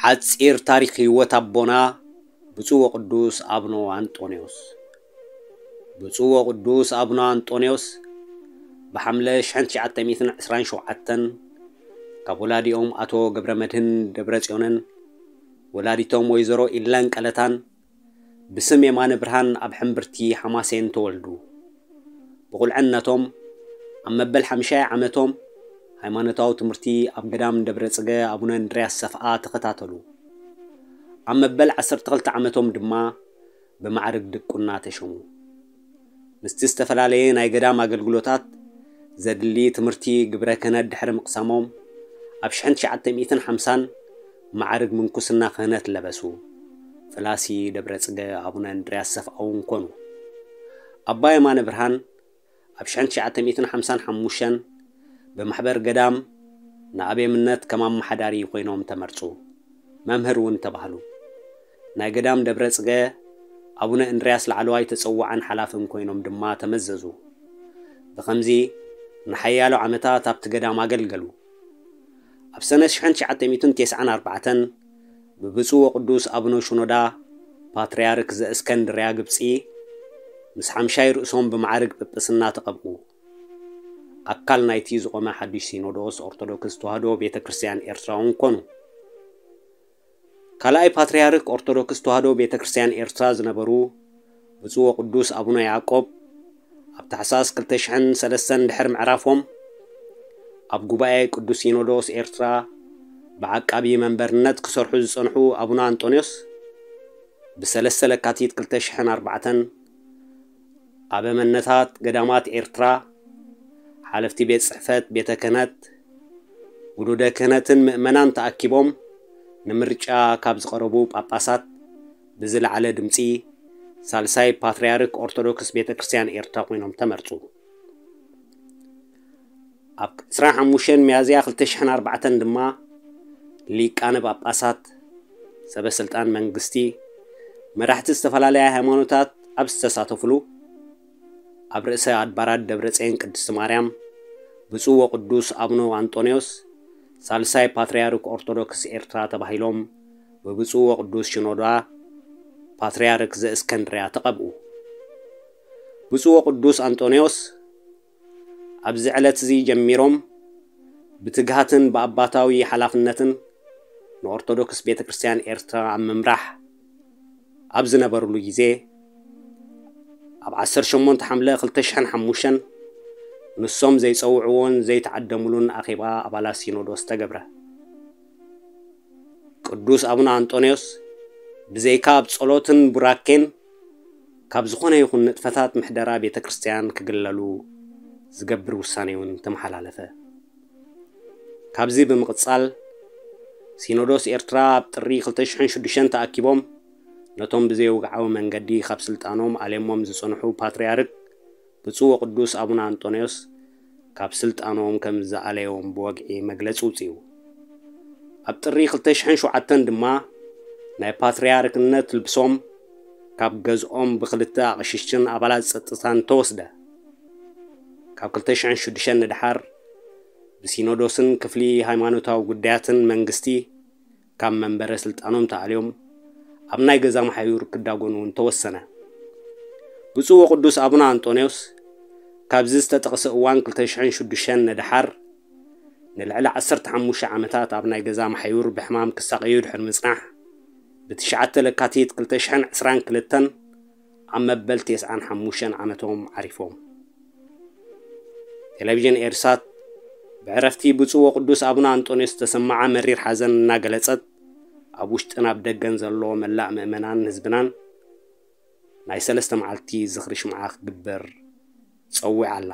ሓጺር ታሪኽ ህይወት ኣቦና ብፁዕ ወቅዱስ ኣቡነ ኣንጦንዮስ። ብፁዕ ወቅዱስ ኣቡነ ኣንጦንዮስ ብሓምለ ሽሕን ትሽዓተ ሚእትን ዕስራን ሸውዓተን ካብ ወላዲኦም ኣቶ ገብረ መድህን ደብረጽዮንን ወላዲቶም ወይዘሮ ኢለን ቀለታን ብስም የማነ ብርሃን ኣብ ሕምብርቲ ሓማሴን ተወልዱ። ብቑልዕነቶም ኣብ መበል ሓምሻይ ዓመቶም ሃይማኖታዊ ትምህርቲ ኣብ ገዳም ደብረ ጽገ ኣቡነ እንድርያስ ሰፍኣ ተኸታተሉ። ኣብ መበል ዓሰርተ ክልተ ዓመቶም ድማ ብማዕርግ ድቁና ተሸሙ። ምስቲ ዝተፈላለየ ናይ ገዳም ኣገልግሎታት ዘድሊ ትምህርቲ ግብረ ክህነት ድሕሪ ምቕሳሞም ኣብ ሽሕን ትሽዓተ ሚእትን ሓምሳን ማዕርግ ምንኩስና ክህነት ለበሱ። ፍላሲ ደብረ ጽገ ኣቡነ እንድርያስ ሰፍኣ እውን ኮኑ። ኣባ የማነ ብርሃን ኣብ ሽሕን ትሽዓተ ሚእትን ሓምሳን ሓሙሽተን ብማሕበር ገዳም ንኣቤምነት ከም ኣመሓዳሪ ኮይኖም ተመርጹ። መምህር እውን ተባህሉ። ናይ ገዳም ደብረ ጽገ ኣቡነ እንድርያስ ላዕለዋይ ተጸዋዕን ሓላፍን ኮይኖም ድማ ተመዘዙ። ብኸምዚ ንሓያሎ ዓመታት ኣብቲ ገዳም ኣገልገሉ። ኣብ ሰነ ሽሕን ትሽዓተ ሚእትን ተስዓን ኣርባዕተን ብብፁዕ ወቅዱስ ኣቡነ ሽኖዳ ፓትርያርክ ዘእስከንድርያ ግብጺ ምስ ሓምሻይ ርእሶም ብማዕርግ ጵጵስና ተቐብኡ። ኣካል ናይቲ ዝቖመ ሓድሽ ሲኖዶስ ኦርቶዶክስ ተዋህዶ ቤተ ክርስቲያን ኤርትራ እውን ኮኑ። ካልኣይ ፓትርያርክ ኦርቶዶክስ ተዋህዶ ቤተ ክርስቲያን ኤርትራ ዝነበሩ ብፁዕ ወቅዱስ ኣቡነ ያዕቆብ ኣብ ታሕሳስ ክልተ ሽሕን ሰለስተን ድሕሪ ምዕራፎም ኣብ ጉባኤ ቅዱስ ሲኖዶስ ኤርትራ ብዓቃቢ መንበርነት ክሰርሑ ዝጸንሑ ኣቡነ ኣንጦንዮስ ብሰለስተ ለካቲት ክልተ ሽሕን ኣርባዕተን ኣበመነታት ገዳማት ኤርትራ፣ ሓለፍቲ ቤት ጽሕፈት ቤተ ክህነት፣ ውሉደ ክህነትን ምእመናን ተኣኪቦም ንምርጫ ካብ ዝቐረቡ ጳጳሳት ብዝለዓለ ድምጺ ሳልሳይ ፓትርያርክ ኦርቶዶክስ ቤተ ክርስቲያን ኤርትራ ኮይኖም ተመርጹ። ኣብ ዕስራን ሓሙሽተን ሚያዝያ ክልተ ሽሕን ኣርባዕተን ድማ ሊቃነ ጳጳሳት፣ ሰበ ስልጣን መንግስቲ፣ መራሕቲ ዝተፈላለያ ሃይማኖታት ኣብ ዝተሳተፍሉ ኣብ ርእሰ ኣድባራት ደብረጽዮን ቅድስቲ ማርያም ብፁዕ ወቅዱስ ኣቡነ ኣንጦንዮስ ሳልሳይ ፓትርያርክ ኦርቶዶክስ ኤርትራ ተባሂሎም ብብፁዕ ወቅዱስ ሽኖዳ ፓትርያርክ ዘእስከንድርያ ተቐብኡ። ብፁዕ ወቅዱስ ኣንጦንዮስ ኣብዚ ዕለት እዚ ጀሚሮም ብትግሃትን ብኣባታዊ ሓላፍነትን ንኦርቶዶክስ ቤተ ክርስቲያን ኤርትራ ኣብ ምምራሕ ኣብ ዝነበሩሉ ግዜ ኣብ ዓሰርተ ሸሞንተ ሓምለ ክልተ ሽሕን ሓሙሽተን ንሶም ዘይጸውዕዎን ዘይተዓደሙሉን ኣኼባ ኣባላት ሲኖዶስ ተገብረ። ቅዱስ ኣቡነ ኣንጦንዮስ ብዘይካ ኣብ ጸሎትን ቡራኬን ካብ ዝኾነ ይኹን ንጥፈታት ምሕደራ ቤተ ክርስቲያን ክግለሉ ዝገብር ውሳኔ እውን ተመሓላለፈ። ካብዚ ብምቕጻል ሲኖዶስ ኤርትራ ኣብ ጥሪ ክልተ ሽሕን ሽዱሽተን ተኣኪቦም ነቶም ብዘይወግዓዊ መንገዲ ካብ ስልጣኖም ኣልዮሞም ዝጸንሑ ፓትርያርክ ብፁዕ ወቅዱስ ኣቡነ ኣንጦንዮስ ካብ ስልጣኖም ከም ዝኣለዮም ብወግዒ መግለጺ ውጽኡ። ኣብ ጥሪ ክልተ ሽሕን ሸውዓተን ድማ ናይ ፓትርያርክነት ልብሶም ካብ ገዝኦም ብክልተ ኣቕሽሽትን ኣባላት ጸጥታን ተወስደ። ካብ ክልተ ሽሕን ሽዱሽተን ንድሓር ብሲኖዶስን ክፍሊ ሃይማኖታዊ ጉዳያትን መንግስቲ ካብ መንበረ ስልጣኖም ተኣልዮም ኣብ ናይ ገዛ መሓዩር ክዳጎኑ እውን ተወሰነ። ብፁዕ ወቅዱስ ኣቡነ ኣንጦንዮስ ካብዚ ዝተጠቕሰ እዋን ክልተ ሽሕን ሽዱሽተን ንድሓር ንልዕሊ ዓሰርተ ሓሙሽተ ዓመታት ኣብ ናይ ገዛ መሓዩር ብሕማም ክሳቐዩ ድሕሪ ምጽናሕ ብትሽዓተ ለካቲት ክልተ ሽሕን ዕስራን ክልተን ኣብ መበል ተስዓን ሓሙሽተን ዓመቶም ዓሪፎም። ቴሌቪዥን ኤርሳት ብዕረፍቲ ብፁዕ ወቅዱስ ኣቡነ ኣንጦንዮስ ዝተሰማዓ መሪር ሓዘን እናገለጸት ኣብ ውሽጥን ኣብ ደገን ዘሎ መላእ ምእመናን ህዝብናን ናይ ሰለስተ መዓልቲ ዝኽሪ ሽምዓ ክግበር ጸዊዓ ኣላ።